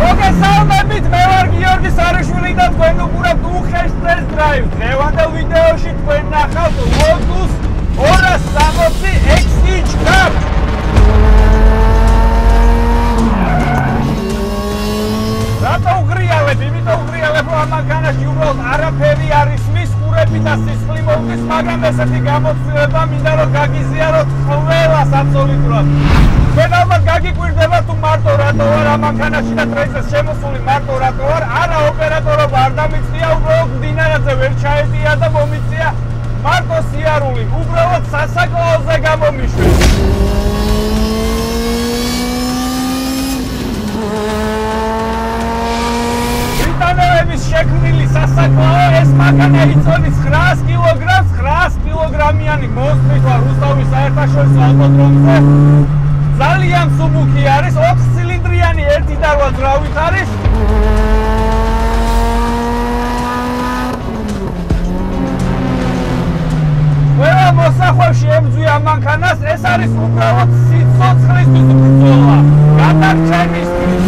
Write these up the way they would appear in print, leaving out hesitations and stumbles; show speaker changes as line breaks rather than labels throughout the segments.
მოგესალმებით, მე ვარ გიორგი სარიშვილი და თქვენ უყურებთ უხეშ test drive. დღევანდელ ვიდეოში თქვენ ნახავთ Lotus 260 Exige Cup. რატო უღრიალებ? იმიტომ უღრიალებ, რომ ამაგანაში უბრალოდ არაფერი არის მის ყურები და სისხლი მოვდის, მაგრამ ესეთი გამოცდილება მინდა რომ გაგიზიაროთ ყველას აბსოლუტურად. თქვენ ალბათ გაგიკვირდება თუ მარტო რატო ვარ ამანქანაში და ტრეიზეს შემოსული მარტო რატო ვარ, არა ოპერატორობა არ დამიწია, უბრალოდ მდინარაზე ვერ ჩაედია და მომიწია მარტო სიარული, უბრალოდ სასაკლაოზე გამომიშვი. ბრიტანელების შექმნილი სასაკლაო ეს მანქანა იწოდის 900 კილოგრამს, 900 კილოგრამიანი მონსტრის ვარ რუსთავის საერთაშორისო ავტოდრომზე. ძალიან სუბუქი არის, 4 ცილინდრიანი 1.8 ძრავით არის. ყველა მოსახვევში ემძვია ამანქანას, ეს არის უბრალოდ სიცოცხლისთვის ბრძოლა, გადარჩენისთვის.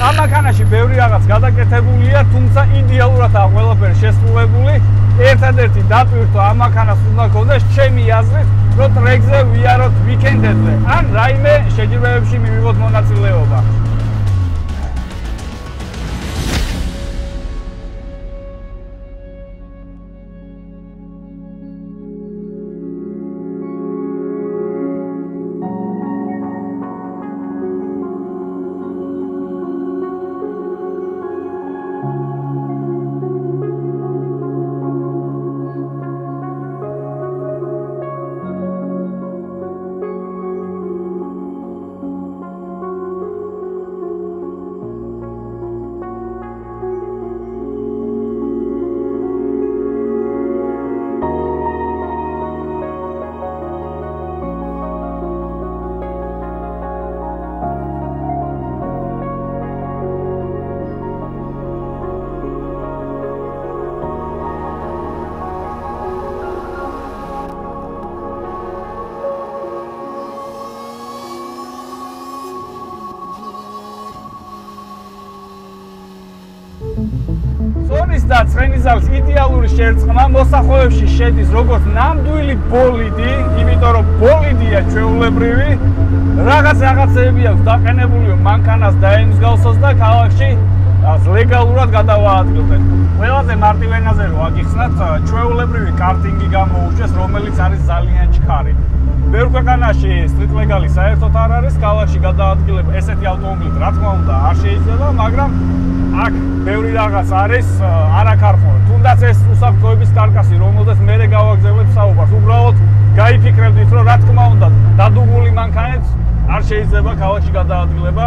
ამანქანაში ბევრი რაღაც გადაკეთებულია, თუმცა იდეალურად აქვს ყველაფერი შესრულებული. ერთადერთი დაპირთვა ამანქანას უნდა გქონდეს ჩემი აზრით, რომ ტრეკზე ვიაროთ ვიკენდებზე, ან რაიმე შეჯიბრებებში მივიღოთ მონაწილეობა. სონის და ცხენისძალის იდეალური შერწყმა მოსახვევებში შედის როგორც ნამდვილი ბოლიდი, იმიტომ რომ ბოლიდია ჩვეულებრივი, რაღაცეები აქვს დაყენებული მანქანას დაემსგავსოს და ქალაქში ლეგალურად გადავაადგილდეთ. ყველაზე მარტივ ენაზე რო აგიხსნათ, ჩვეულებრივი კარტინგი გამოუჩეს, რომელიც არის ძალიან ჩქარი. ბევრ ქვეყანაში street legal-ი საერთოდ არ არის, ქალაქში გადაადგილება ესეთი ავტომობილით რა თქმა უნდა არ შეიძლება, მაგრამ აქ ბევრი რაღაც არის არაქარხმოვანი. თუნდაც ეს უსაფრთხოების კარკასი, რომელზეც მე გავაგზავნებ საუბარს, უბრალოდ გაიფიქრებდით, რომ რა თქმა უნდა დადუმული მანქანით არ შეიძლება ქალაქში გადაადგილება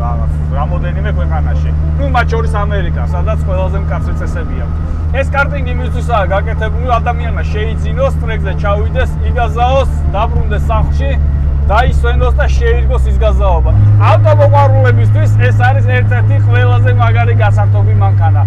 რაღაც რამოდენიმე ქვეყანაში. ნუ მათ შორის ამერიკა, სადაც ყველაზე მკაცრი წესები აქვს. ეს კარტინგი მისთვისაა გაკეთებული, ადამიანმა შეიძინოს, ტრეკზე ჩავიდეს, იგაზაოს, დაბრუნდეს სახლში, დაისვენოს და შეირგოს ის გაზაობა. ავტომოყვარულებისთვის ეს არის ერთ-ერთი ყველაზე მაგარი გასართობი მანქანა.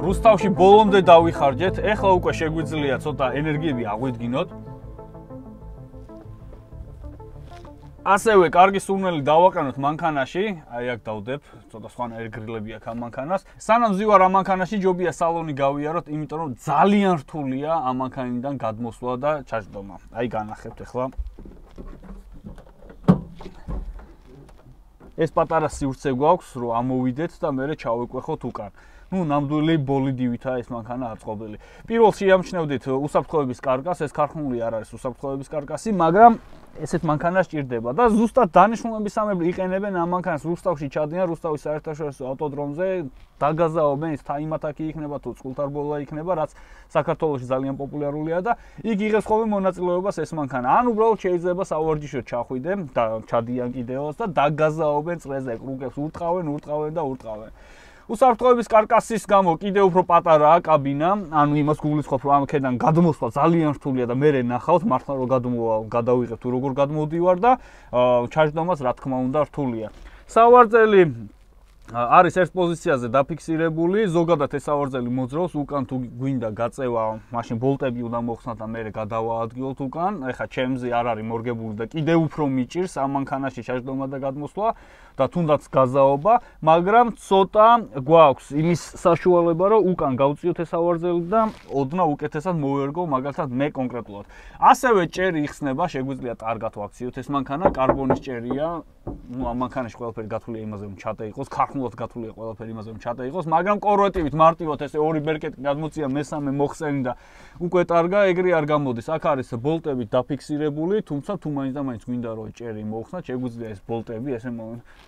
რუსთავში ბოლომდე დავიხარჯეთ, ეხლა უკვე შეგვიძლია ცოტა ენერგიები აღვიდგინოთ. ასევე კარგი სურნელი დავაყენოთ მანქანაში, აი აქ დავდებ, ცოტა სხვანაირი გრილები აქვს ამ მანქანას. სანამ ვზივარ ამ მანქანაში, ჯობია სალონი გავიაროთ, იმიტომ რომ ძალიან რთულია ამ მანქანიდან გადმოსვლა და ჩაჯდომა. აი განახებთ ეხლა. ეს პატარა სივრცე გვაქვს, რომ ამოვიდეთ და მერე ჩავეკვეხოთ უკან. ნუ ნამდვილი ბოლიდივითაა ეს მანქანა აწყობილი. პირველ შეამჩნევდით უსაფრთხოების კარკას, ეს ქარხნული არ არის უსაფრთხოების კარკასი, მაგრამ ესეთ მანქანას ჭირდება და ზუსტად დანიშნულებისამებრ იყენებენ ამ მანქანას. რუსთავში ჩადიან, რუსთავის საერთაშორისო ავტოდრომზე დაგაზაობენ, ის თაიმათაკი იქნება თუ წყულთარბოლა იქნება, რაც საქართველოში ძალიან პოპულარულია და იქ იღებს ხოლმე მონაწილეობას ეს მანქანა. ან უბრალოდ შეიძლება საوارჯიშოდ ჩახვიდე და ჩადიან კიდევაც და დაგაზაობენ წრეზე, კრუკებს ურტყავენ და ურტყავენ. უსაფრთხოების კარკასის გამო კიდევ უფრო პატარაა კაბინა, ანუ იმას გულისხმობ, რომ ამქედან გადმოსვლა ძალიან რთულია და მე ნახავთ მართლა რომ გადავიღებ თუ როგორ გადმოდივარ და ჩაჯდომაც რა თქმა უნდა რთულია. სავარძელი არის ერთ პოზიციაზე დაფიქსირებული, ზოგადად ეს სავარძელი მოძრაობს, უკან თუ გვინდა გაწევა, მაშინ ბოლტები უნდა მოხსნათ და მე გადავაადგილოთ უკან. ეხლა ჩემზე არ არის მორგებული და კიდევ უფრო მიჭირს ამ მანქანაში ჩაჯდომა და გადმოსვლა და თუნდაც გაზაობა, მაგრამ ცოტა გვაქვს იმის საშუალება, რომ უკან გავწიოთ ეს სავარძელი და ოდნავ უკეთესად მოვერგო, მაგალითად მე კონკრეტულად. ასევე ჭერი იხსნება, შეგვიძლია კარგად ვაქციოთ ეს მანქანა, კარბონის ჭერია, ну ამ მანქანაში ყველაფერი გათვლია იმაზე, რომ ჩატე იყოს, ქარხნულად გათვლია ყველაფერი იმაზე, რომ ჩატე იყოს, მაგრამ კორვეტივით მარტივად ესე ორი ბერკეტი გადმოწია, მესამე მოხსენი და უკვე ტარგა, ეგრე არ გამოდის. აქ არის ბოლტებით დაფიქსირებული, თუმცა თუ მაინც და მაინც გვინდა რომ ჭერი მოხსნათ, შეგვიძლია ეს ბოლტები ესე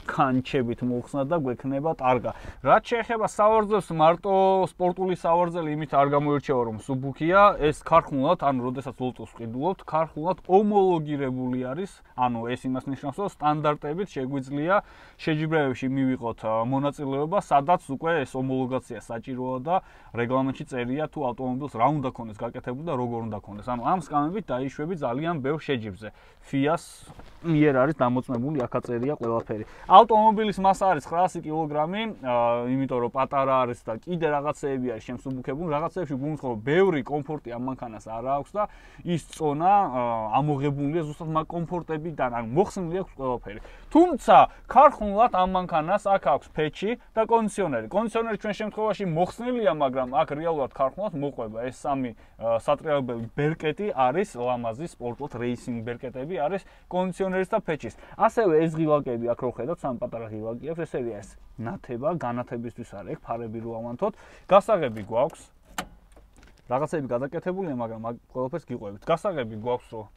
კანჩებით მოხსნათ და გვექნება ტარგა. რაც შეეხება სავარძელს, მარტო სპორტული სავარძელი იმით არ გამოირჩევა, რომ სუბუქია, ეს ქარხნულად, ანუ როდესაც ლოტოს ვყიდულობთ, ქარხნულად ომოლოგირებული არის, ანუ ეს იმას ნიშნავს, რომ სტანდარტებით შეგვიძლია შეჯიბრებებში მივიღოთ მონაწილეობა, სადაც უკვე ეს ომოლოგაცია საჭიროა და რეგლამენტში წერია თუ ავტომობილს რა უნდა ქონდეს გაკეთებული და როგორ უნდა ქონდეს. ანუ ამ სკამებით დაიშვები ძალიან ბევრ შეჯიბრზე. FIA-ს მიერ არის დამოწმებული, აქ წერია ყველაფერი. ავტომობილის მასა არის 900 კილოგრამი, იმიტომ რომ პატარა არის და კიდე რაღაცეები არის შემსუბუქებული, რაღაცეებში გულისხმობ, ბევრი კომფორტი ამ მანქანას არ აქვს და ის წონა ამოღებულია ზუსტად მაგ კომფორტებიდან, ანუ მოხსნილი აქვს ყველაფერი. თუმცა ქარხნულად ამ მანქანას აქ აქვს ფეჩი და კონდიციონერი. კონდიციონერი ჩვენ შემთხვევაში მოხსნილია, მაგრამ აქ რეალურად ქარხნულად მოყვება. ეს სამი სატრიალებელი ბერკეტი არის ლამაზი სპორტულად რეისინგ ბერკეტები არის კონდიციონერის და ფეჩის. ასევე ეს ღილაკები აქ რო ხედავთ, სამ პატარა ღილაკი აქვს, ესე არის ნათება, განათებისთვის არის, ეგ ფარები რო ავანთოთ. გასაღები გვაქვს. რაღაცები გადაკეთებულია, მაგრამ მაგ ყველაფერს გიყვებით. გასაღები გვაქვს, რომ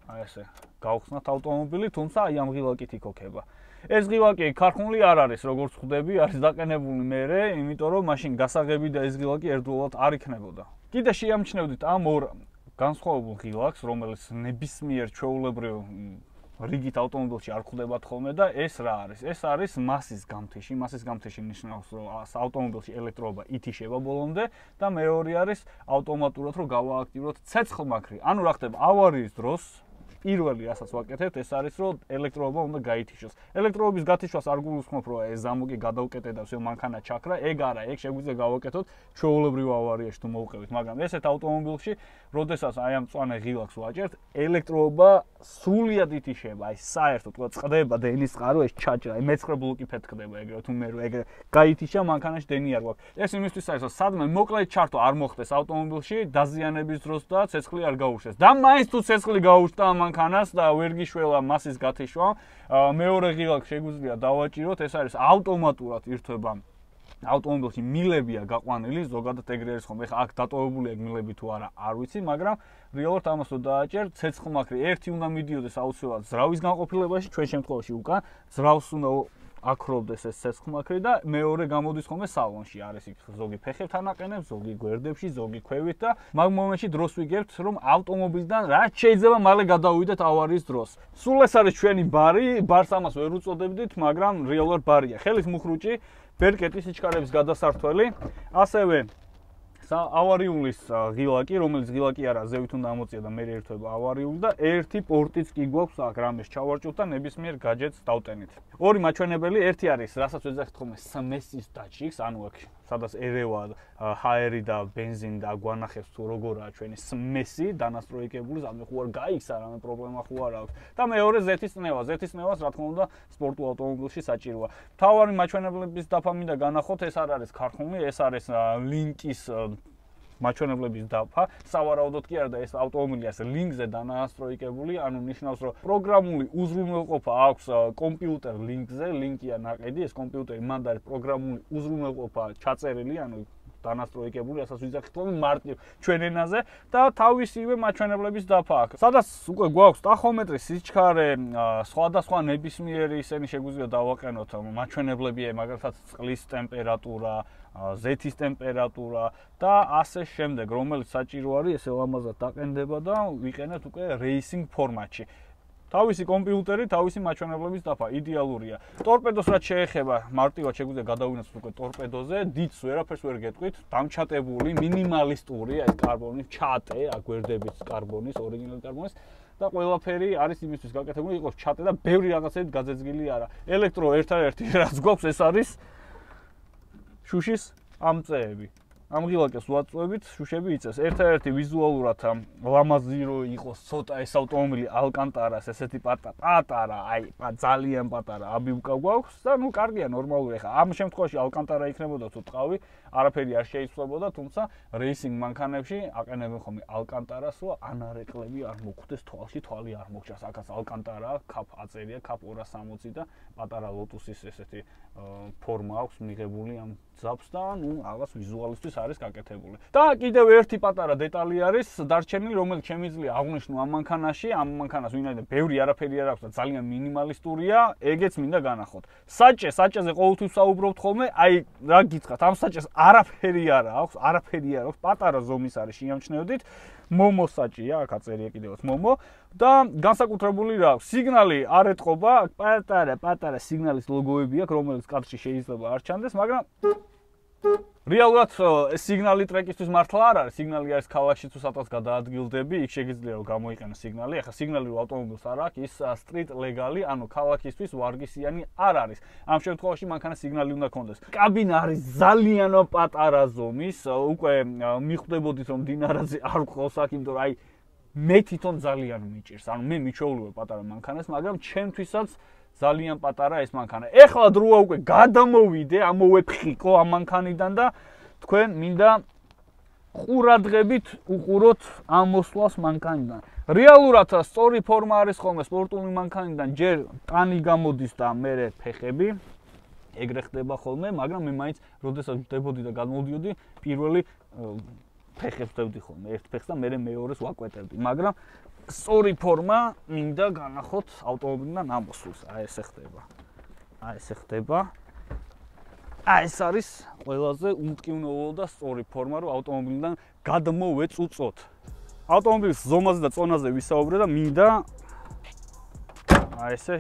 აი ესე გავხსნათ ავტომობილი, თუმცა აი ამ ღილაკით იქოქება. ეს ღილაკი ქარხნული არ არის, როგორც ხვდები, არის დაყენებული მერე, იმიტომ რომ მაშინ გასაღები და ეს ღილაკი ერთდროულად არ იქნებოდა. კიდე შეამჩნევდით ამ ორ განსხვავებულ ღილაკს, რომელიც ნებისმიერ ჩვეულებრივ რიგით ავტომობილში არ ხვდებათ ხოლმე და ეს რა არის? ეს არის მასის გამთიში. მასის გამთიში ნიშნავს, რომ ავტომობილში ელექტროობა ითიშება ბოლომდე და მეორე არის ავტომატურად რომ გავააქტივროთ ცეცხლმაქრი. ანუ რა ხდება? ავარიის დროს პირველი რასაც ვაკეთებთ, ეს არის რომ ელექტროობა უნდა გაითიშოს. ელექტროობის გათიშვას არ გულისხმობ, რომ ეს ზამოგი გადავკეტე და всё მანქანა ჩაქრა, ეგ არა, ეგ შეგვიძლია გავაკეთოთ ჩვეულებრივ ავარიაში თუ მოვყევით, მაგრამ ესეთ ავტომობილში, როდესაც აი ამ მწვანე ღილაკს ვაჭერთ, ელექტროობა სრულიად ითიშება, აი საერთოდ თქვა წყდება დენის წყარო, ეს ჩაჭრა, აი მეცხრე ბლოკი ფეთქდება ეგრე, თუ მე ეგრე გაითიშა მანქანაში დენი არ გვაქვს. ეს იმისთვის არის, რომ სადმე მოკლედ ჩართო არ მოხდეს ავტომობილში დაზიანების დროს და ცეცხლი არ გაუშვეს. და მაინც თუ ცეცხლი გაუშვდა მანქანას და ვერ გიშველა მასის გათიშვა, მეორე ღილაკს შეგვიძლია დავაჭიროთ, ეს არის ავტომატურად ირთვება. ავტომობილში მილებია გაყვანილი, ზოგადად ეგრე არის ხომ, ეხლა აქ დატოვებული ეგ მილები თუ არა, არ ვიცი, მაგრამ რეალურად ამას რო დააჭერ, ცეცხლმაქრი ერთი უნდა მიდიოდეს აუცილებლად ზრავის განყოფილებაში, ჩვენ შემთხვევაში უკან ზრავს უნდა აქრობდეს ეს ცეცხლმაქრი და მეორე გამოდის ხოლმე სალონში, არის იქ ზოგი ფეხებთან აყენებს, ზოგი გვერდებში, ზოგი ქვევით და მაგ მომენტში დროს ვიგებთ, რომ ავტომობილიდან რაც შეიძლება მალე გადავიდეთ ავარიის დროს. სულ ეს არის ჩვენი ბარი, ბარს ამას ვერ უწოდებდით, მაგრამ რეალურად ბარია. ხელის მუხრუჭი, ბერკეტის სიჩქარების გადასართველი, ასევე ავარიულის ღილაკი, რომელიც ღილაკი არა, ზევით უნდა ამოწია და მე ერთვება ავარიული და ერთი პორტიც კი გვაქვს აქ რამეს ჩავარჭოთ და ნებისმიერ გაჯეტს დავტენით. ორი მაჩვენებელი, ერთი არის, რასაც ვეძახით ხოლმე სმესის დაჭიქს, ანუ აქ სადაც ერევა ჰაერი და ბენზინი და გვანახებს თუ როგორაა ჩვენი სმესი დანასტროიკებული, ამე ხო არ გაიქს, არამე პრობლემა ხო არ აქვს. და მეორე ზეთის წნევა, ზეთის წნევას რა თქმა უნდა სპორტულ ავტომობილში საჭიროა. მთავარი მაჩვენებლების დაფა მინდა განახოთ, ეს არ არის ქარხნული, ეს არის ლინკის მაჩვენებლების დაფა, სავარაუდოდ კი არა და ეს ავტომობილი ასე ლინკზე დანაასტროიკებული, ანუ ნიშნავს, რომ პროგრამული უზრუნველყოფა აქვს კომპიუტერ ლინკზე, ლინკია ნაყედი, ეს კომპიუტერი მანდ არის პროგრამული უზრუნველყოფა ჩაწერილი, ანუ დანასტროიკებული, რასაც ვიძახით რომ მარტივ ჩვენ ენაზე და თავისივე მაჩვენებლების დაფა აქვს. სადაც უკვე გვაქვს ტახომეტრის სიჩქარე, სხვადასხვა ნებისმიერი ისინი შეგვიძლია დავაყენოთ მაჩვენებლები, მაგალითად წყლის ტემპერატურა, ზეთის ტემპერატურა და ასე შემდეგ, რომელიც საჭირო არის ესე ლამაზად დაყენდება და ვიყენებთ უკვე რეისინგ ფორმატში. თავისი კომპიუტერი, თავისი მაჩვენებლების დაფა იდეალურია. ტორპედოს რაც შეეხება, მარტივად შეგვიძლია გადავინაცვლოთ უკვე ტორპედოზე, დიდს ვერაფერს ვერ გეტყვით, დამჩატებული, მინიმალისტური, ეს კარბონის ჩატე, აგვერდებით კარბონის, ორიგინალური კარბონის და ყველაფერი არის იმისთვის გაკეთებული, იყოს ჩატე და ბევრი რაღაცებით გაძეძგილი არა. ელექტრო ერთადერთი რაც გვაქვს ეს არის შუშის ამწეები. ამ ღილაკებს ვაწვევით, შუშები იწევს. ერთადერთი ვიზუალურად ლამაზი რო იყოს ცოტა ეს ავტომობილი ალკანტარას, ესეთი პატარა, აი ძალიან პატარა აბიუკა გვაქვს და ნუ კარგია, ნორმალურია. ხა ამ შემთხვევაში ალკანტარა იქნებოდა თუ ტყავი, არაფერი არ შეიცვლებოდა, თუმცა რეისინგ მანქანებში აყენებენ ხოლმე ალკანტარას, რომ ანარეკლები არ მოხვდეს თვალში, თვალი არ მოგჭას. აქაც ალკანტარა, კაპ აწერია, კაპ 260 და პატარა ლოტუსის ესეთი ფორმა აქვს მიღებული ამ ძაბს და ნუ რაღაც ვიზუალისტვის არის გაკეთებული. და კიდევ ერთი პატარა დეტალი არის დარჩენილი, რომელიც შემიძლია აღვნიშნო ამ მანქანაში, ამ მანქანას ვინაიდან ბევრი არაფერი არ აქვს და ძალიან მინიმალისტურია, ეგეც მინდა განახოთ. საჭეზე ყოველთვის საუბრობთ ხოლმე, აი რა გითხრათ, ამ საჭეს არაფერი არ აქვს, პატარა ზომის არის შეამჩნევდით. მომო საჭია, აქ აწერია კიდევაც მომო და განსაკუთრებული რა აქვს, სიგნალი არ ეტყობა, პატარა სიგნალის ლოგოები აქვს, რომელიც კადრში შეიძლება არ ჩანდეს, მაგრამ რეალურად სიგნალი ტრეკისთვის მართლა არ არის, სიგნალი არის ქალაქში თუ სადღაც გადაადგილდები, იქ შეგიძლია რომ გამოიყენო სიგნალი. ახლა სიგნალი რო ავტომობილს არ აქვს, ის სტრიტ ლეგალი, ანუ ქალაქისთვის ვარგისიანი არ არის. ამ შემთხვევაში მანქანა სიგნალი უნდა კონდეს. კაბინა არის ძალიან პატარა ზომის, უკვე მიხვდებოდით რომ დინარაძე არ ყავს აქ, იმიტომ რომ აი მე თვითონ ძალიან მიჭირს. ანუ მე მიჩვეული ვარ პატარა მანქანას, მაგრამ ჩემთვისაც ძალიან პატარა ეს მანქანა. ეხლა დროა უკვე გადამოვიდე, ამოვეფხიკო ამ მანქანიდან და თქვენ მინდა ყურადღებით უყუროთ ამ მოსვლას მანქანიდან. რეალურად სწორი ფორმა არის ხოლმე სპორტული მანქანიდან, ჯერ ტანი გამოდის და მერე ფეხები. ეგრე ხდება ხოლმე, მაგრამ მე მაინც როდესაც ვდებოდი და გამოვდიოდი, პირველი ფეხებს ვდებდი ხოლმე, ერთ ფეხს და მერე მეორეს ვაკვეტებდი, მაგრამ სწორი ფორმა მინდა განახოთ ავტომობილიდან ამოსულს. აი ესე ხდება. აი ეს არის ყველაზე უმტკივნეულო და სწორი ფორმა, რომ ავტომობილიდან გადმოვეწუწოთ. ავტომობილის ზომაზე და წონაზე ვისაუბრე და მინდა აი ესე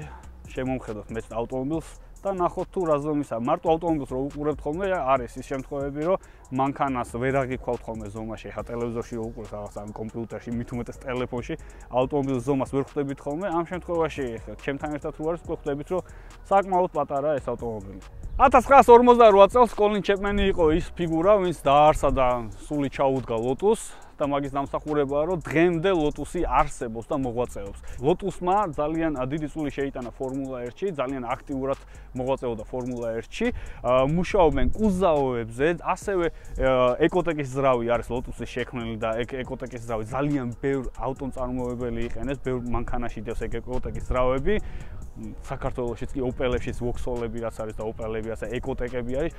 შემომხედოთ მე ავტომობილს და ნახოთ თუ რა ზომისაა. მარტო ავტომობილს რო უყურებთ ხოლმე, არის ის შემთხვევები, რომ მანქანას ვერ აღიქვავთ ხოლმე ზომაში, ხა ტელევიზორში რო უყურებთ რაღაც ამ კომპიუტერში, მით უმეტეს ტელეფონში, ავტომობილის ზომას ვერ ხვდებით ხოლმე. ამ შემთხვევაში ჩემთან ერთად თუ არის, ხვდებით, რომ საკმაოდ პატარაა ეს ავტომობილი. 1948 წელს კოლინ ჩეპმენი იყო ის ფიგურა, ვინც დაარსა და სული ჩაუდგა ლოტუსს. და მაგის დამსახურებაა, რომ დღემდე ლოტუსი არსებობს და მოღვაწეობს. ლოტუსმა ძალიან დიდი წვლილი შეიტანა ფორმულა 1-ში, ძალიან აქტიურად მოღვაწეობდა ფორმულა 1-ში. მუშაობენ კუზაოებზე, ასევე ეკოტეკის ძრავი არის ლოტუსის შექმნელი და ეკოტეკის ძრავი ძალიან ბევრ ავტომწარმოებელი იყენებს, ბევრ მანქანაში დევს ეკოტეკის ძრავები. საქართველოშიც კი ოპელებშიც ვოქსოლები რაც არის და ოპელები ასე ეკოტეკები არის.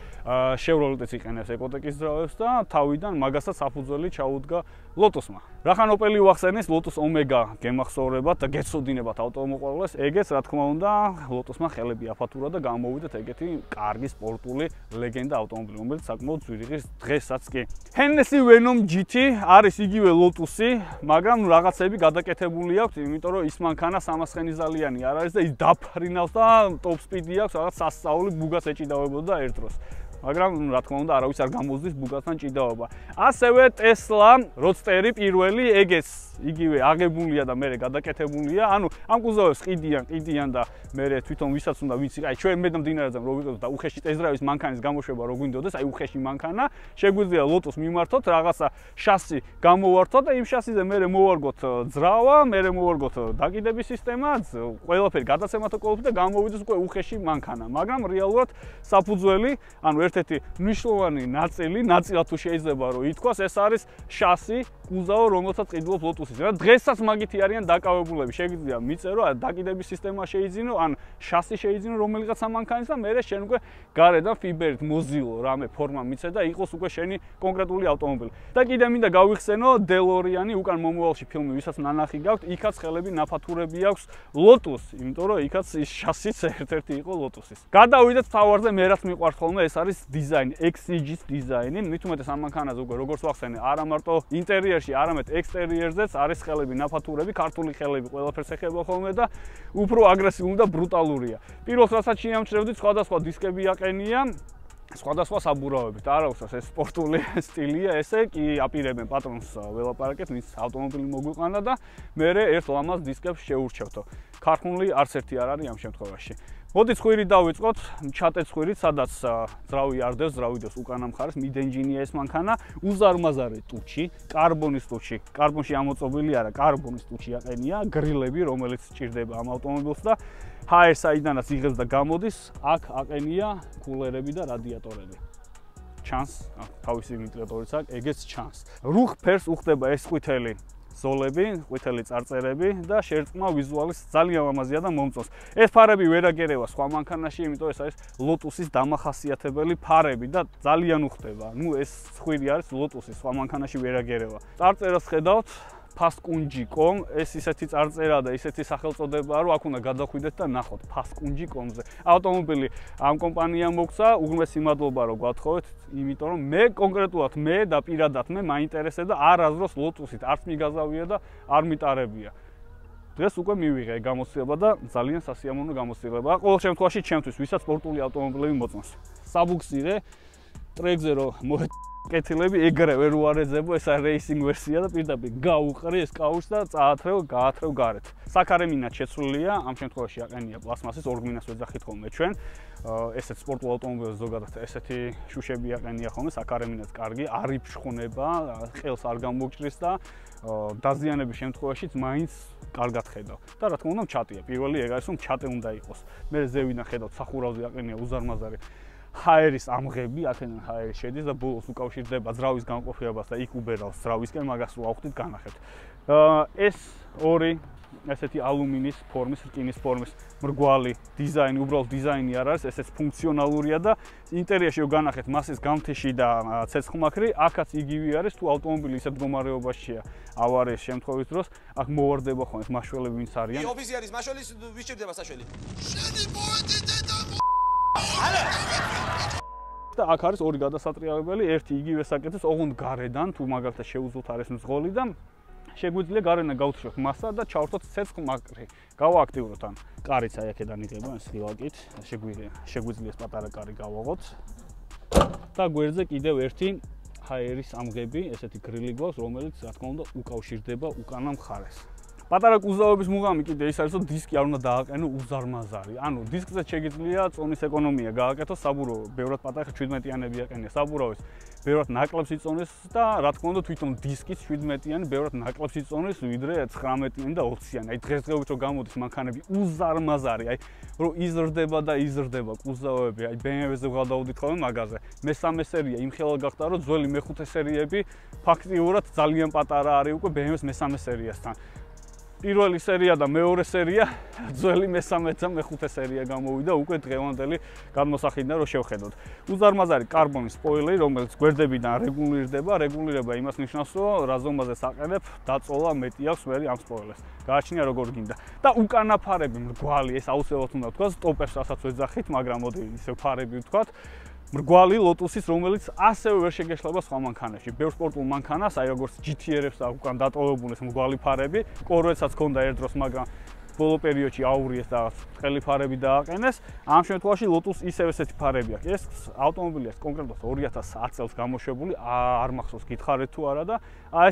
შევროლეტიც იყენებს ეკოტეკის ძრავებს და თავიდან მაგასაც საფუძველი ჩაუდგა ლოტუსმა. რახან ოპელი ვახსენის, ლოტუს ომეგა გემახსოვრებათ და გეცოდინებათ ავტომოყვარულეს, ეგეც რა თქმა უნდა ლოტუსმა ხელები აფათურა და გამოვიდეთ ეგეთი კარგი სპორტული ლეგენდა ავტომობილი, რომელიც საკმაოდ ძვირიღის დღესაც კი. Hennessy Venom GT არის იგივე ლოტუსი, მაგრამ რაღაცები გადაკეთებული აქვს, იმიტომ რომ ის მანქანა 300 ხენიზალიანი არ არის და ის დაფრინავს და ტოპ სპიდი აქვს, რაღაც სასწაული ბუგას ეჭიდავებოდა ერთ დროს. მაგრამ რა თქმა უნდა არავის არ გამოზდის ბუგასთან ჭიდაობა. ასევე Tesla Roadster-ი პირველი ეგეც იგივე აღებულია და მერე გადაკეთებულია. ანუ ამ კუზოვებს ყიდიან და მერე თვითონ ვისაც უნდა ვიცი, აი ჩვენ მე და მდინარეზე რო ვიყოთ და უხეში ტესტდრაივის მანქანის გამოშვება რო გვინდოდეს, აი უხეში მანქანა, შეგვიძლია ლოტოს მიმართოთ, რაღაცა შასი გამოვართოთ და იმ შასიზე მერე მოვარგოთ ძრავა, მერე მოვარგოთ დაკიდების სისტემა, ყველაფერი გადაცემათო ყოფილი და გამოვიდეს უკვე უხეში მანქანა. მაგრამ რეალურად საფუძველი, ანუ ერთ-ერთი მნიშვნელოვანი ნაწილად თუ შეიძლება რომ ითქვას, ეს არის შასი, კუზავო, რომელსაც ყიდულობს Lotus-ის. რა დღესაც მაგითი არიან დაკავებულები. შეგვიძლია მიწერო, დაკიდების სისტემა შეიძინო, ან შასი შეიძინო რომელიღაც მანქანის და მერე შენ უკვე გარედან ფიბერით მოზილო რამე ფორმა მიცე და იყოს უკვე შენი კონკრეტული ავტომობილი. და კიდე მინდა გავიხსენო DeLorean-ი უკან მომავალში ფილმი, ვისაც ნანახი გაქვთ, იქაც ხელები ნაფათურები აქვს Lotus, იმიტომ რომ იქაც ის შასიც ერთ-ერთი იყო Lotus-ის. გადავიდეთ თავარზე, მე რაც მიყვარს ხოლმე, ეს არის დიზაინი, XCG-ის დიზაინი. მით უმეტეს ამ მანქანაზე უკვე როგორც ვახსენე, არა მარტო ინტერიერში, არამედ ექსტერიერზეც არის ხელები ნაფათურები, ქართული ხელები ყველაფერს ეხება ხოლმე და უფრო აგრესიული და ბრუტალურია. პირველს რასაც შეამჩნევდით, სხვადასხვა დისკები აყენია, სხვადასხვა საბურავებით. არა უსას ეს სპორტული სტილია, ესე კი აპირებენ პატრონს ველაპარაკეთ, ვინც ავტომობილი მოგვიყანა და მერე ერთ ლამაზ დისკებს შეურჩევთო. ქართული არც ერთი არ არის ამ შემთხვევაში. მოდით ხვირი დავიწყოთ, ჩატეთ ხვირით, სადაც ძრავი არ დევს, ძრავი დევს უკანა მხარეს, mid-engine-ია ეს მანქანა, უზარმაზარი ტუჩი, კარბონის ტუჩი, კარბონში ამოწყობილი არა, კარბონის ტუჩი აყენია, გრილები, რომელიც სჭირდება ამ ავტომობილს და ჰაერ საიდანაც იღებს და გამოდის, აქ აყენია კულერები და რადიატორები. ჩანს, თავისი ვენტილატორიც აქვს, ეგეც ჩანს. რუხ ფერს უხდება ეს ყვითელი ზოლები, ყვითელი წარწერები და შერწყმა ვიზუალის ძალიან ლამაზია და მომწონს. ეს ფარები ვერ აგერევა სხვა მანქანაში, იმიტომ ეს არის Lotus-ის დამახასიათებელი ფარები და ძალიან უხდება. ნუ ეს ხვირი არის Lotus-ის, სხვა მანქანაში ვერ აგერევა. წარწერას ხედავთ Fastkunji.com, ეს ისეთი წარწერა და ისეთი სახელწოდებაა, რომ აქ უნდა გადახვიდეთ და ნახოთ Fastkunji.com-ზე. ავტომობილი ამ კომპანიამ მოგცა, უღმესი მადლობა რომ გვათხოვეთ, იმიტომ რომ მე კონკრეტულად მე და პირადად მე მაინტერესებდა არასდროს Lotus-ით, არც მიგაზავია და არ მიტარებია. დღეს უკვე მივიღე გამოცდილება და ძალიან სასიამოვნო გამოცდილება. ყოველ შემთხვევაში ჩემთვის, ვისაც სპორტული ავტომობილები მოწონს. საბუქსირე ტრეკზე რომ კეთილები ეგრევე რო არეძებო, ეს არის რეისინგ ვერსია და პირდაპირ გაუყრი ეს კაუშს და წაათრევ, გაათრევ გარეთ. საქარემინად შეცვლილია, ამ შემთხვევაში აყენია პლასმასის, ორგმინას ვეძახით ხოლმე ჩვენ. ესეთ სპორტულ ავტომობილებს ზოგადად ესეთი შუშები აყენია ხოლმე, საქარემინად კარგი, არ იფშხუნება, ყელს არ გამოგჭრის და დაზიანების შემთხვევაშიც მაინც კარგად ხედავ. და რა თქმა უნდა, ჩატია. პირველი ეგ არის, რომ ჩატე უნდა იყოს. მე ზევიდან ხედავ, სახურავზე აყენია უზარმაზარი ჰაერის ამღები, აქედან ჰაერი შედის და ბოლოს უკავშირდება ძრავის განყოფილებას და იქ უბერავს ძრავისკენ, მაგას რო ავხდით განახებთ. ეს ორი ესეთი ალუმინის ფორმის, რკინის ფორმის მრგვალი დიზაინი, უბრალოდ დიზაინი არ არის, ესეც ფუნქციონალურია და ინტერიერში რო განახეთ მასის გამთიში და ცეცხლმაქრი, აქაც იგივე არის, თუ ავტომობილი ისეთ მდგომარეობაშია ავარიის შემთხვევის დროს, აქ მოვარდება ხოლმე მაშველები ვინც არიან.
ოფიცერის მაშველის ვიჭირდება საშველი. შენი პოეტი
და აქ არის ორი გადასატრიალებელი, ერთი იგივე საკეთებს, ოღონდ გარედან, თუ მაგალითად შეუძლოთ არის მძღოლი და შეგვიძლია გარედან გავთიშოთ მასა და ჩავართოთ ცეცხლმაქრი. გავააქტიუროთ ან კარიც აი აქედან იღება ეს ხილაკით, შეგვიძლია ეს პატარა კარი გავაღოთ. და გვერდზე კიდევ ერთი ჰაერის ამღები, ესეთი გრილი გვაქვს, რომელიც რა თქმა უნდა უკავშირდება უკანა მხარეს. პატარა კუზავების მუღამი კიდე ის არის, რომ დისკი არ უნდა დააყენო უზარმაზარი. ანუ დისკზე შეგიძლია წონის ეკონომია გააკეთო, საბურავო, ბევრად პატარა 17-იანები აყენია საბურავის, ბევრად ნაკლებს იწონის და რა თქმა უნდა თვითონ დისკის 17-იანი ბევრად ნაკლებს იწონის, ვიდრე 19-იანი და 20-იანი. აი დღესდღეობით რომ გამოდის მანქანები უზარმაზარი, აი რომ იზრდება და იზრდება კუზავები, აი BMW-ზე ვღადავდით ხოლმე მაგაზე. მესამე სერია იმხელა გახდა, რომ ძველი მეხუთე სერიები ფაქტიურად ძალიან პატარა არის უკვე BMW-ს მესამე სერიასთან. პირველი სერია და მეორე სერია, ძველი მესამე და მეხუთე სერია გამოვიდა უკვე დღევანდელი გადმოსახედიდან რომ შევხედოთ. უზარმაზარი კარბონის სპოილერი, რომელიც გვერდებიდან რეგულირდება, რეგულირება იმას ნიშნავს, რომ რა ზომაზე საყენებ, დაწოლა მეტი აქვს მე ამ სპოილერს. გააჩნია როგორ გინდა. და უკანა ფარები მრგვალი, ეს აუცილებლად უნდა ვთქვა, სტოპერს რასაც ვეძახით, მაგრამ მოდი ისევ ფარები ვთქვათ. მრგვალი Lotus-ის, რომელიც ასევე ვერ შეგეშლება სხვა მანქანებში. ბევრ სპორტულ მანქანას, აი როგორც GT-რებს აქვს უკან დატოვებული ეს მრგვალი ფარები, კორვეტსაც ჰქონდა ერთ დროს, მაგრამ ბოლო პერიოდში აურიეს და ყელი ფარები დააყენეს. ამ შემთხვევაში Lotus ისევ ესეთი ფარები აქვს. ეს ავტომობილია კონკრეტულად 2010 წელს გამოშვებული, არ მახსოვს გითხარით თუ არა და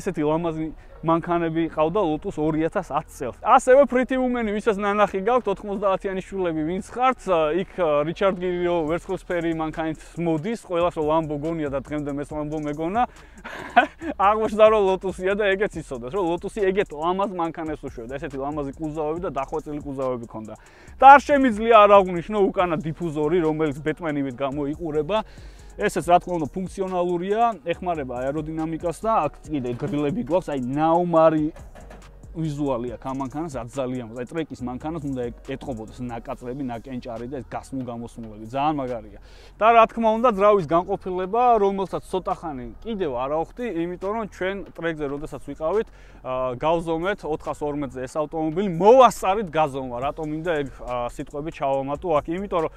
ესეთი ლამაზი მანქანები ყავდა Lotus 2010 წელს. ასევე Pretty Woman-ი, ვისაც ნანახი გაქვთ 90-იანი შულები, ვინც ხართ, იქ რიჩარდ გირი რო ვერცხლისფერი მანქანით მოდის, ყველას რო Lambo გონია და დღემდე მეც Lambo მეგონა. აღმოჩნდა რომ Lotus-ია და ეგეც იცოდეს, რომ Lotus-ი ეგეთ ლამაზ მანქანებს უშვებდა, ესეთი ლამაზი კუზავები და დახვეწილი კუზავები ქონდა. და არ შემიძლია არ აღვნიშნო უკანა დიფუზორი, რომელიც ბეტმენივით გამოიყურება. ესეც რა თქმა უნდა ფუნქციონალურია, ეხმარება აეროდინამიკას და აქ კიდე გრილები გვაქვს, აი ნაუმარი ვიზუალი აქვს ამ მანქანას, რაც ძალიან მოძ. აი ტრეკის მანქანას უნდა ეტყობოდეს ნაკაწრები, ნაკენჭარი და ეს გასმულ-გამოსმულები, ძალიან მაგარია. და რა თქმა უნდა ძრავის განყოფილება, რომელსაც ცოტა ხანი კიდევ არ ავხდი, იმიტომ რომ ჩვენ ტრეკზე როდესაც ვიყავით, გავზომეთ 412-ზე ეს ავტომობილი, მოვასწარით გაზომვა, რატომ მინდა ეგ სიტყვები ჩავამატო აქ, იმიტომ რომ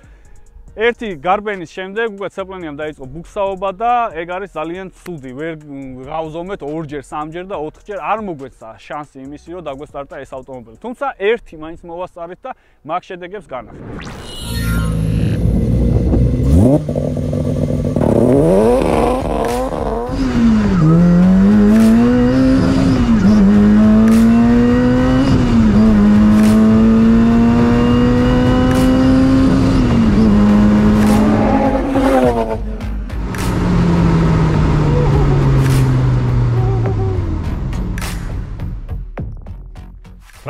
ერთი გარბენის შემდეგ უკვე ცეპლენიამ დაიწყო ბუქსაობა და ეგ არის ძალიან ცუდი. ვერ გავზომეთ 2-ჯერ, 3-ჯერ და 4-ჯერ არ მოგვეცა შანსი იმისი, რომ დაგვესტარტა ეს ავტომობილი. თუმცა ერთი მაინც მოვასწარით და მაგ შედეგებს განახილეთ.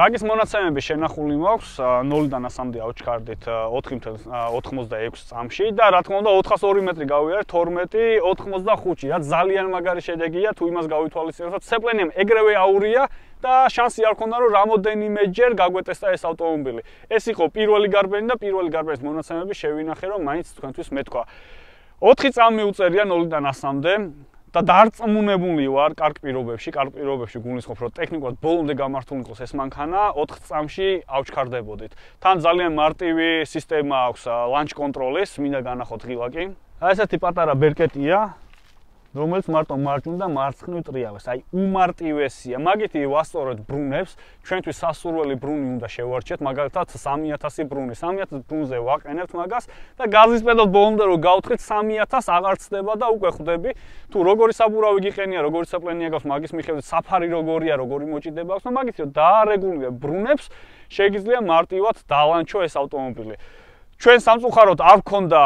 რაგის მონაცემები შენახული მაქვს 0-დან 100-მდე აუჩქარდით 4.86 წამში და რა თქმა უნდა 402 მეტრი გავიარეთ 12.85-ში, რაც ძალიან მაგარი შედეგია თუ იმას გავითვალისწინებთ, რომ ცეპლენიამ ეგრევე აურია და შანსი არ ქონდა რომ რამოდენიმეჯერ გაგვეტესტა ეს ავტომობილი. ეს იყო პირველი გარბენი და პირველი გარბენის მონაცემები შევინახე რომ მაინც თქვენთვის მეთქვა. 4 წამი უწერია 0-დან 100-მდე. და დარწმუნებული ვარ კარგ პირობებში გულისხმობ რომ ტექნიკურად ბოლომდე გამართული იყოს ეს მანქანა 4 წამში ავჩქარდებოდით. თან ძალიან მარტივი სისტემა აქვს ლანჩ კონტროლის, მინდა განახოთ ღილაკი. აი ესეთი პატარა ბერკეტია, რომელიც მარტო მარჯვნივ და მარცხნივ ტრიალებს. აი უმარტივესია. მაგითი ვასწორეთ ბრუნებს, ჩვენთვის სასურველი ბრუნი უნდა შევარჩიეთ, მაგალითად 3000 ბრუნი. 3000 ბრუნზე ვაყენებთ მაგას და გაზის პედალს ბოლომდე რომ გავთხეთ 3000 აღარ ცდება და უკვე ხვდები თუ როგორი საბურავი გიყენია, როგორი ცეპლენია გაქვს, მაგის მიხედვით საფარი როგორია, როგორი მოჭიდება აქვს და მაგითი რომ დაარეგულირებ ბრუნებს, შეგიძლია მარტივად დალანჩო ეს ავტომობილი. ჩვენ სამწუხაროდ არ გქონდა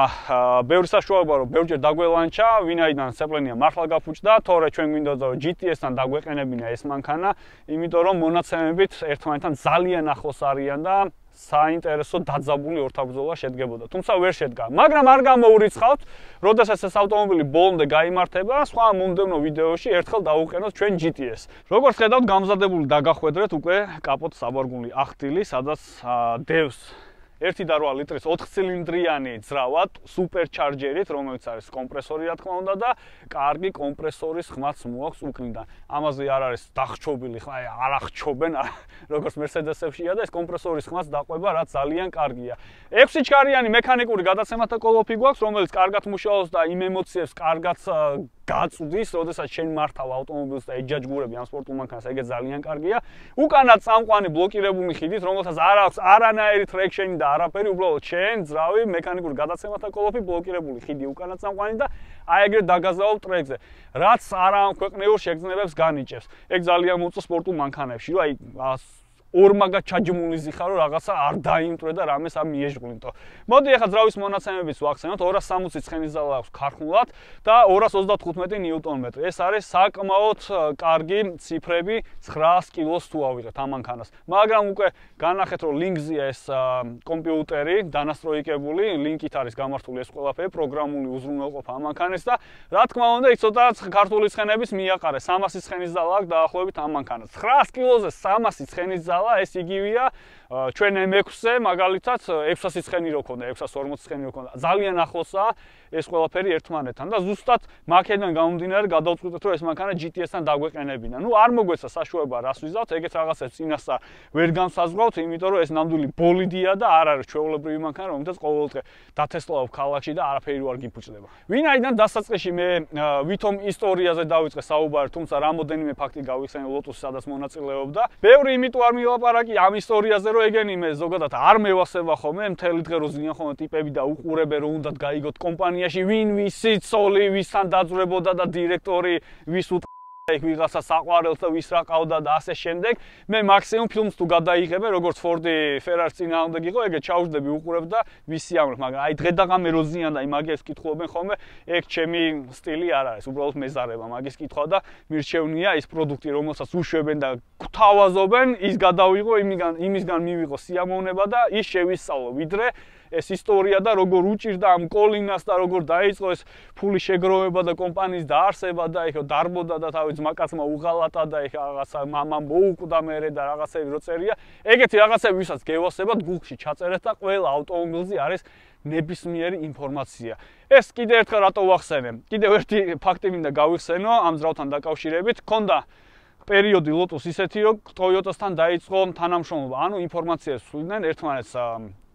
ბევრი საშუალება რომ ბევრჯერ დაგველანჩა, ვინაიდან ცეპლენია მართლა გაფუჭდა, თორე ჩვენ გვინდოდა რომ GTS-თან დაგვეყენებინა ეს მანქანა, იმიტომ რომ მონაცემებით ერთმანეთთან ძალიან ახლოს არიან და საინტერესო დაძაბული ორთაბრძოლა შედგებოდა. თუმცა ვერ შედგა. მაგრამ არ გამოურიცხავთ, როდესაც ეს ავტომობილი ბოლომდე გაიმართება, სხვა მომდევნო ვიდეოში ერთხელ დავუყენოთ ჩვენ GTS. როგორც ხედავთ, გამზადებული დაგახვედრეთ უკვე კაპოტ საბარგული ახტილი, სადაც დევს 1.8 ლიტრის 4 ცილინდრიანი ძრავად, სუპერჩარჯერით, რომელიც არის კომპრესორი რა თქმა უნდა და კარგი კომპრესორის ხმაც მოაქვს უკნიდან. ამაზე არ არის დახჩობილი, ხა არ ახჩობენ, როგორც Mercedes-ებშია და ეს კომპრესორის ხმაც დაყვება, რაც ძალიან კარგია. 6 ჩქარიანი მექანიკური გადაცემათა კოლოფი გვაქვს, რომელიც კარგად მუშაობს და იმ ემოციებს კარგად გაწვდის, როდესაც შენ მართავ ავტომობილს და ეჯაჯგურები ამ სპორტულ მანქანას, ეგეც ძალიან კარგია. უკანად წამყვანი ბლოკირებული ხიდით, რომელსაც არ აქვს არანაირი ტრექშენი და არაფერი, უბრალოდ შენ ძრავი მექანიკური გადაცემათა კოლოფი ბლოკირებული ხიდი უკანად წამყვანი და აი ეგრე დაგაზავებ ტრეკზე, რაც არამქვეყნიურ შეგრძნებებს განიჭებს. ეგ ძალიან მოწონს სპორტულ მანქანებში, რომ აი ორმაგად ჩაჯმული ხარ რომ რაღაცა არ დაიმტვრე და რამეს არ მიეჟღვნიტო. მოდი ახლა ძრავის მონაცემებიც ვახსენოთ, 260 ცხენისძალა აქვს ქარხნულად და 235 ნიუტონ-მეტრი. ეს არის საკმაოდ კარგი ციფრები 900 კილოს თუ ავიღეთ ამ მანქანას. მაგრამ უკვე განახეთ რომ ლინკზეა ეს კომპიუტერი დანასტროიკებული, ლინკით არის გამართული ეს ყველაფერი, პროგრამული უზრუნველყოფა ამ მანქანის და რა თქმა უნდა, იქ ცოტა ქართული ცხენების მიაყარე. 300 ცხენისძალა აქვს დაახლოებით ამ მანქანას. 900 კილოზე 300 ცხენისძალა ეს იგივეა ჩვენ M6-ზე მაგალითად 600 ცხენი რო ქონდა, 640 ცხენი რო ქონდა. ძალიან ახლოსაა ეს ყველაფერი ერთმანეთთან და ზუსტად მაქედან გამომდინარე გადავწყვიტეთ რომ ეს მანქანა GTS-თან დაგვეყენებინა. ნუ არ მოგვეცა საშუალება რას ვიზავთ, ეგეთ რაღაცებს წინასწარ ვერ განსაზღვრავთ, იმიტომ რომ ეს ნამდვილი ბოლიდია და არ არის ჩვეულებრივი მანქანა, რომელსაც ყოველდღე დათესლავებ ქალაქში და არაფერი არ გიფუჭდება. ვინაიდან დასაწყისში მე ვითომ ისტორიაზე დავიწყე საუბარი, თუმცა რამოდენიმე ფაქტი გავიხსენე ლოტუსი, სადაც მონაწილეობდა. ბევრი იმიტომ არ მილაპარაკი ამ ისტორიაზე, რომ ეგენი მე ზოგადად არ მევასება ხოლმე, მთელი დღე რო ზიან ხოლმე ტიპები და უყურებენ რომ უნდათ გაიგოთ კომპანიაში ვინ ვისი ცოლი, ვისთან დაძვრებოდა და დირექტორი ვის იქ ვიღაცა საყვარელს და ვის რა ყავდა და ასე შემდეგ. მე მაქსიმუმ ფილმს თუ გადაიღებე, როგორც Ford Ferrari წინააღმდეგ იყო, ეგეთ ჩავждები უყურებ და ვისი ამრ, მაგრამ აი დღე და ღამე რო ზიან და იმაგებს კითხულობენ ხოლმე, ეგ ჩემი სტილი არ არის, უბრალოდ მეზარება მაგის კითხვა და მირჩევნია ის პროდუქტი, რომელსაც უშვებენ და გთავაზობენ, ის გადავიღო, იმისგან მივიღო სიამოვნება და ის შევისწავლო, ვიდრე ეს ისტორია და როგორ უჭირდა ამ კოლინას და როგორ დაიწყო ეს ფული შეგროვება და კომპანიის დაარსება და ეხა დარბოდა და თავი ძმაკაცმა უღალატა და ეხა რაღაცა მამამ მოუკვდა მერე და რაღაცები რო წერია. ეგეთი რაღაცები ვისაც გევასებათ გუგლში ჩაწერეთ და ყველა ავტომობილზე არის ნებისმიერი ინფორმაცია. ეს კიდევ ერთხელ რატო ვახსენე? კიდევ ერთი ფაქტი მინდა გავიხსენო ამ ძრავთან დაკავშირებით. ქონდა პერიოდი Lotus ისეთი, რომ Toyota-სთან დაიწყო თანამშრომლობა. ანუ ინფორმაციას სვლიდნენ ერთმანეთს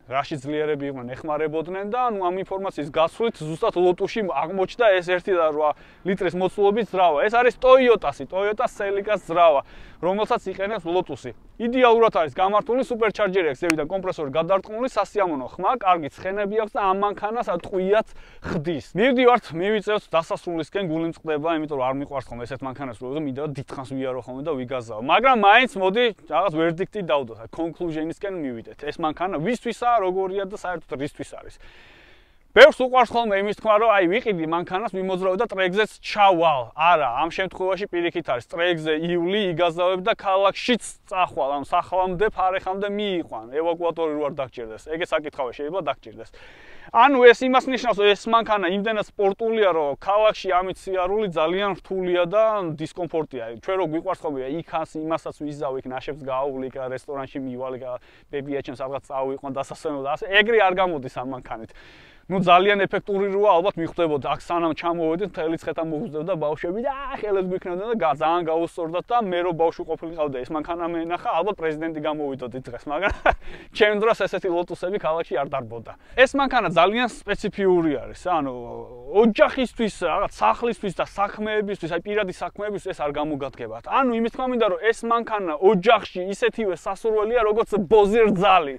რაში ძლიერები იყვნენ, ეხმარებოდნენ და ანუ ამ ინფორმაციის გასვლით ზუსტად Lotus-ში აღმოჩნდა ეს 1.8 ლიტრის მოცულობის ძრავა. ეს არის Toyota Celica-ს ძრავა, რომელსაც იყენებს Lotus-ი. იდეალურად არის გამართული სუპერჩარჯერი აქვს, ზევიდან კომპრესორი გადარწყმული, სასიამოვნო ხმა, კარგი ცხენები აქვს და ამ მანქანას ტყვიაც ხდის. მივდივართ, მივიწევთ დასასრულისკენ, გული მწყდება, იმიტომ რომ არ მიყვარს ხოლმე ესეთ მანქანას, რომ მინდა დიდხანს ვიარო ხოლმე და ვიგაზავ. მაგრამ მაინც მოდი რაღაც ვერდიქტი დავდოთ, კონკლუჟენისკენ მივიდეთ. ეს მანქანა ვისთვისაა, როგორია და საერთოდ რისთვის არის. ბევრს უყვარს ხოლმე იმის თქმა, რომ აი ვიყიდი მანქანას, მიმოძრავე და ტრეკზეც ჩავალ. არა, ამ შემთხვევაში პირიქით არის ტრეკზე ივლი, იგაზავებ და ქალაქშიც წახვალ, ამ სახლამდე, ფარეხამდე მიიყვან. ევაკუატორი რო არ დაგჭირდეს. ეგე საკითხავია, შეიძლება დაგჭირდეს. ანუ ეს იმას ნიშნავს, რომ ეს მანქანა იმდენად სპორტულია, რომ ქალაქში ამით სიარული ძალიან რთულია და დისკომფორტია. ჩვენ რო გვიყვარს ხოლმე იქას, იმასაც ვიზავ, იქ ნაშებს გაავლი, რესტორანში მივალ, ბებიაჩემ სადღაც წავიყვან დასასვენებლად და ასე. ეგრე არ გამოდის ამ მანქანით. ნუ ძალიან ეფექტური როა, ალბათ მიხვდებოდა, აქ სანამ ჩამოვედით, მთელი ცხეთა მოგვძდებდა ბავშვები და ხელებს გვიქნებდნენ და ძალიან გაუსწორდათ და მე რო ბავშვი ყოფილიყავდა ეს მანქანა მენახა, ალბათ პრეზიდენტი გამოვიდოდი დღეს, მაგრამ ჩემ დროს ესეთი Lotus-ები ქალაქში არ დარბოდა. ეს მანქანა ძალიან სპეციფიური არის, ანუ ოჯახისთვის, რაღაც სახლისთვის და საქმეებისთვის, აი პირადი საქმეებისთვის ეს არ გამოგადგებათ. ანუ იმის თქმა მინდა, რომ ეს მანქანა ოჯახში ისეთივე სასურველია, როგორც ბოზი რძალი.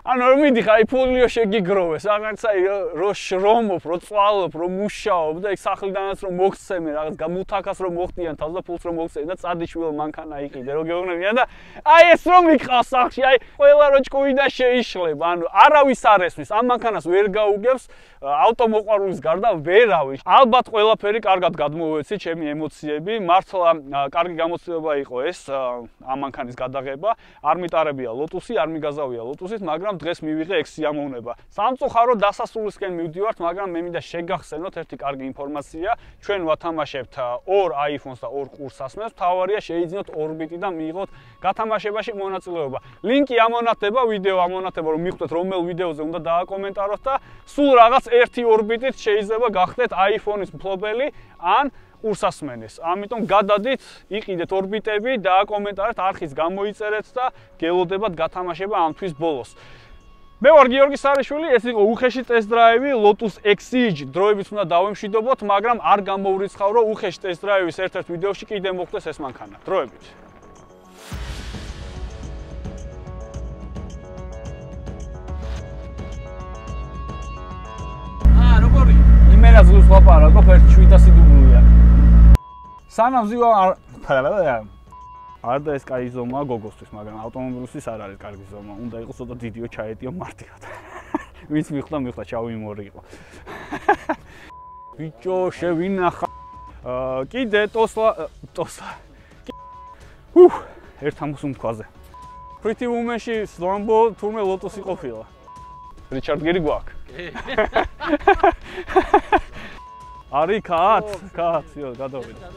ანუ რომ მიდიხარ, აი ფულიო შეგიგროვეს, რაღაცა რო შრომობ, რო წვალობ, რო მუშაობ და ეგ სახლიდანაც რომ მოგცემენ, რაღაც გამუთაქას რომ მოხდიან, თავს და ფულს რომ მოგცემენ და წადიშვილ მანქანა იყიდე, რო გეუბნებიან და აი ეს რომ მიყავს სახლში, აი ყველა რო ჭკუიდან შეიშლება, ანუ არავის არ ესმის, ამ მანქანას ვერ გაუგებს, ავტომოყვარულის გარდა ვერავის. ალბათ ყველაფერი კარგად გადმოვეცი, ჩემი ემოციები, მართლა კარგი გამოცდილება იყო ეს ამ მანქანის გადაღება, არ მიტარებია Lotus-ი, არ მიგაზავია Lotus-ით, მაგრამ დღეს მივიღე ეგ სიამოვნება. სამწუხაროდ დასასრულისკენ მივდივართ, მაგრამ მე მინდა შეგახსენოთ ერთი კარგი ინფორმაცია. ჩვენ ვათამაშებთ 2 iPhone-ს და 2 ყურსასმენს. თავარია შეიძინოთ ორბიტი და მიიღოთ გათამაშებაში მონაწილეობა. ლინკი ამონათდება, ვიდეო ამონათდება, რომ მიხვდეთ რომელ ვიდეოზე უნდა დააკომენტაროთ და სულ რაღაც ერთი ორბიტით შეიძლება გახდეთ iPhone-ის მფლობელი ან ყურსასმენის. ამიტომ გადადით, იყიდეთ ორბიტები, დააკომენტარეთ, არხის გამოიწერეთ და გელოდებათ გათამაშება ამ თვის ბოლოს. მე ვარ გიორგი სარიშვილი, ეს იყო უხეში ტესტ-დრაივი Lotus Exige. დროებით უნდა დავემშვიდობოთ, მაგრამ არ გამოვრიცხავ, რომ უხეში ტესტ-დრაივის ერთ-ერთ ვიდეოში კიდე მოხდეს ეს მანქანა. დროებით.
როგორი?
იმენა ძლივს ვაპარაკობ, 700 დუბლია. სანამ ზივა არ და ეს კაი ზომაა გოგოსთვის, მაგრამ ავტომობილისთვის არ არის კარგი ზომა. უნდა იყოს ცოტა დიდიო ჩაეტიო მარტივად. ვინც მიხვდა, ჩავიმორი იყო. ბიჭო, შევინახა. კიდე ტოსლა. ერთ ამბოს უმქვაზე. Pretty Woman-ში Lambo თურმე Lotus-ი ყოფილა. რიჩარდ გერი გვაქვს. არის კაც, იო, გადავიდა.